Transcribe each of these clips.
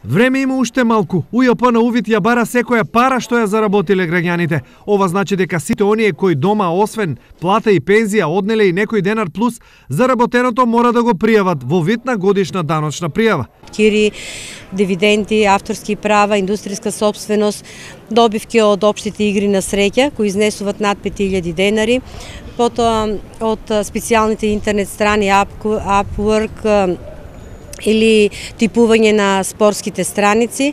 Време има уште малку. УЈП на увид ја бара секоја пара што ја заработиле граѓаните. Ова значи дека сите оние кои дома освен плата и пензија однеле и некој денар плюс, заработеното мора да го пријават во вид на годишна даночна пријава. Кири, дивиденти, авторски права, индустријска собственост, добивки од општите игри на среќа кои изнесуваат над 5000 денари, потоа од специјалните интернет страни Upwork или типување на спортските страници,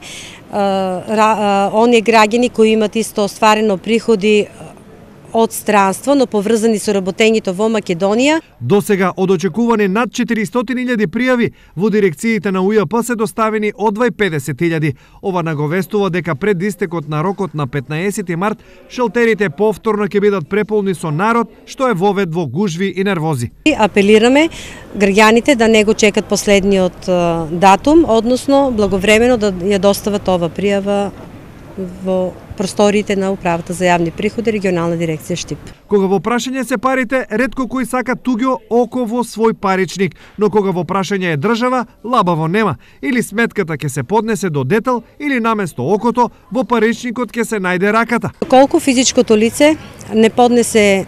оние граѓани кои имат исто остварено приходи од странство, но поврзани со работењето во Македонија. До сега од очекувани над 400.000 пријави во дирекциите на УЈП се доставени одвај 50.000. Ова наговестува дека пред истекот на рокот на 15 март шелтерите повторно ќе бидат преполни со народ, што е вовед во гужви и нервози. Апелираме граѓаните да не го чекат последниот датум, односно благовремено да ја достават ова пријава во просториите на Управата за јавни приходи, регионална дирекција Штип. Кога во прашање се парите, ретко кој сака туѓо око во свој паричник, но кога во прашање е држава, лабаво нема. Или сметката ќе се поднесе до детел, или наместо окото, во паричникот ќе се најде раката. Колку физичкото лице не поднесе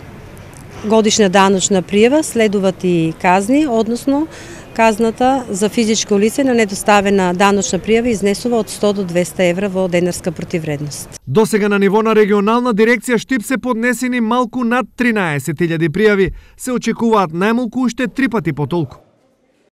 годишна даночна пријава, следуваат и казни, односно казната за физичко лице на недоставена даночна пријава изнесува од 100 до 200 евра во денарска противвредност. До сега на ниво на регионална дирекција Штип се поднесени малку над 13.000 пријави. Се очекуваат најмалку уште 3 пати потолку.